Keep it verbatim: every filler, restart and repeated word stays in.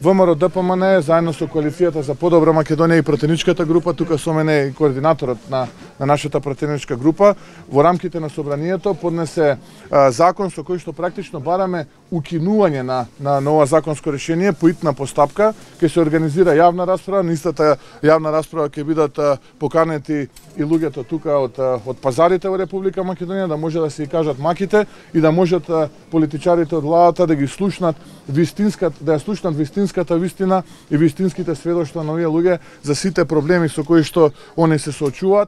ВМРО Д П М Н заедно со коалицијата за подобра Македонија и пратеничката група, тука со мене и координаторот на, на нашата пратеничка група, во рамките на собранието поднесе а, закон со кој што практично бараме укинување на, на, на ова законско решение по итна постапка. Ќе се организира јавна расправа, на истата јавна расправа ќе бидат а, поканети и луѓето тука од, од пазарите во Република Македонија, да може да се и кажат маките и да можат а, политичарите од владата да ги слушнат вистинската, да ја слушнат вистинската вистина и вистинските сведоштва на овие луѓе за сите проблеми со кои што они се соочуваат.